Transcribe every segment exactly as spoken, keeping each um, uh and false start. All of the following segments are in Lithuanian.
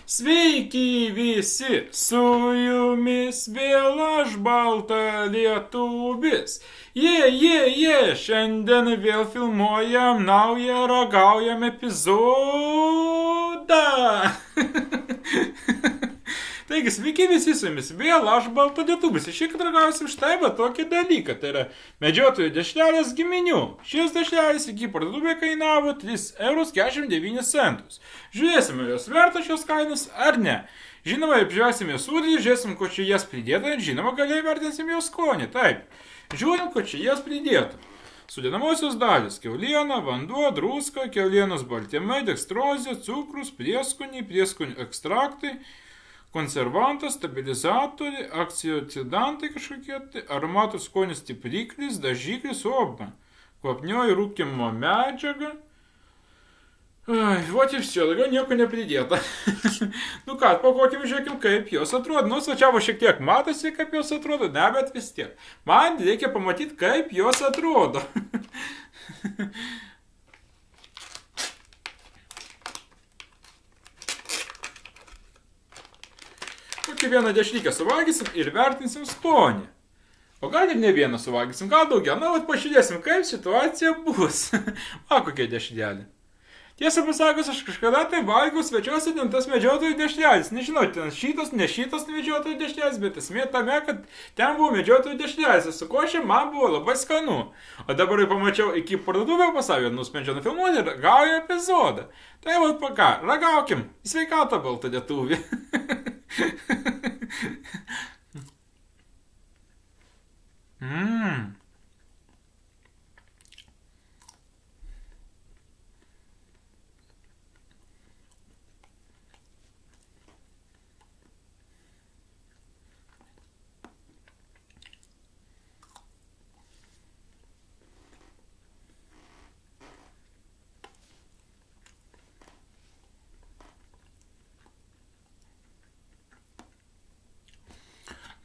Sveiki visi, su jumis vėl aš balta lietuvis. Jie, jie, jie, šiandien vėl filmuojam naują ragaujam epizodą. Taigi, sveiki visi su jumis, vėl aš balta lietuvis. Šiek tiek ragausim štai va tokį dalyką, tai yra medžiotojų dešrelės giminių. Šis dešrelis iki parduotuvė kainavo tris eurus keturiasdešimt devynis centus. Žiūrėsime, jos verta šios kainos ar ne. Žinoma, apžiūrėsime sudėtį, žiūrėsim, ko čia jas pridėta ir žinoma, galiai vertinsim jos skonį. Taip, žiūrim, ko čia jas pridėta. Sudedamosios dalis – kiauliena, vanduo, druska, kiaulienos baltymai, dekstrozė, cukrus, prieskoniai, prieskonių ekstraktai, konservantas, stabilizatoriai, akcioksidantai kažkokie, tai aromatų skonio stipriklis, dažiklis, oba, kvapnioji rūkymo medžiaga. Ai, vot ir все, daugiau nieko nepridėta. Nu ką, pakokim, žiūrėkim, kaip jos atrodo. Nu, svačiavo šiek tiek matosi, kaip jos atrodo, ne, bet vis tiek. Man reikia pamatyti, kaip jos atrodo. Tokį vieną dešrykę suvalgysim ir vertinsim skonį. O gal ir ne vieną suvalgysim, gal daugiau. Na, vat pažiūrėsim, kaip situacija bus. Va, kokia dešrelė. Tiesą pasakius, aš kažkada tai valgiau svečiuose ten tas medžiotojų dešrelis. Nežinau, ten šitas, ne šitas medžiotojų dešrelis, bet esmė tame, kad ten buvo medžiotojų dešrelis. Su košė man buvo labai skanu. O dabar jau pamačiau iki parduotuvę pasavį, nusprendžiau nufilmuoti ir ragauju epizodą. Tai va, ką, ragaukim. Sveikatą baltą lietuvį. Mmm.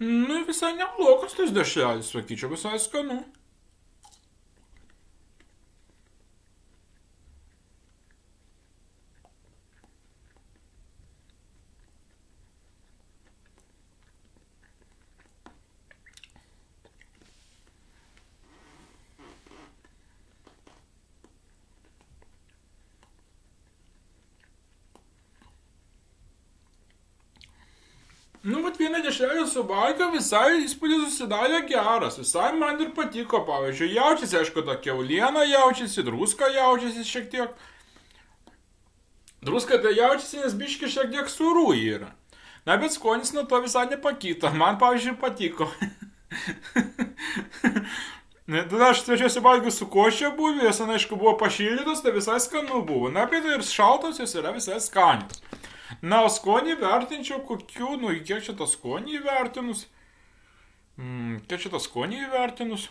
Nu, visai neblogas tas dešrelis, sakyčiau, visai skanu. Nu, vat vieną dešrelę suvalgiau, visai įspūdis susidarė geras, visai man ir patiko, pavyzdžiui, jaučiasi, aišku, ta kiauliena jaučiasi, druska jaučiasi šiek tiek. Druska tai jaučiasi, nes biški šiek tiek sūrų yra. Na, bet skonis nuo to visai nepakito, man, pavyzdžiui, patiko. Tada aš svečiuosi valgiau su košė buvo, jos, aišku, buvo pašildytos, tai visai skanu buvo. Na, bet ir šaltos jos yra visai skanios. Na, o skonį vertinčiau kokių, nu, kiek čia tą skonį įvertinus? Mm, kiek čia tą skonį įvertinus?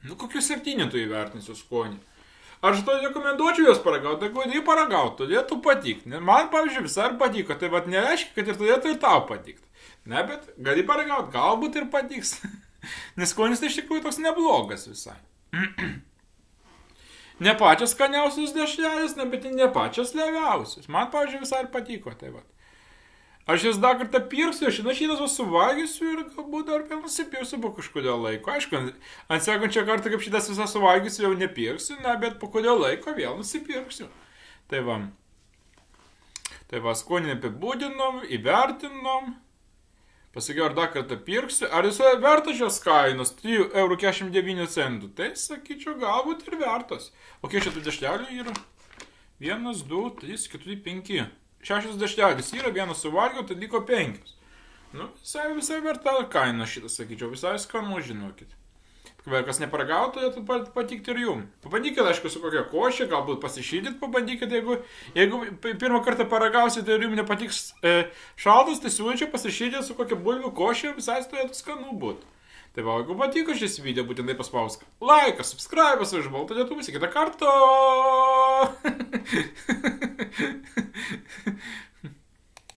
Nu, kokių septynetų įvertinsiu skonį. Aš to rekomenduočiau jos paragauti, tai kodėl paragauti, turėtų patikti. Man, pavyzdžiui, visai ir patiko, tai vat nereiškia, kad ir turėtų ir tau patikti. Ne, bet gali paragauti, galbūt ir patiks. Nes skonis tai iš tikrųjų toks neblogas visai. Ne pačias skaniausius dešrelis, ne, bet ne pačias leviausius. Man, pavyzdžiui, visai ir patiko, tai vat. Aš jas dar kartą pirksiu, aš šitą suvalgysiu ir galbūt dar vėl nusipirksiu po kažkodėl laiko. Aišku, ant sekančio kartą, kaip šitas visą suvalgysiu, jau nepirksiu, ne, bet po kodėl laiko vėl nusipirksiu. Tai va. Tai va, skonį apibūdinom, įvertinom. Pasakiau, ar dar kartą pirksiu. Ar jis verta šios kainos trijų eurų keturiasdešimt devynių centų? Tai, sakyčiau, galbūt ir vertas. O kiek šitų dešrelių yra? Vienas, du, trys, keturi, penki. Šešios dešrelis yra, vienas suvalgiau, tai liko penkios. Nu, visai, visai verta kaina šitas, sakyčiau, visai skanu, žinokit. Kas neparagautų, turėtų patikti ir jum. Pabandykit, aišku, su kokia košė, galbūt pasišildyti, pabandykit, jeigu, jeigu pirmą kartą paragausite ir jums nepatiks e, šaltas, tai siūlyčiau pasišildyti su kokia bulvių košė, visai turėtų skanu būti. Tai va, jeigu patiko šis video, būtinai paspausk laiką, subscribe, už baltą lietuvį, kitą kartą.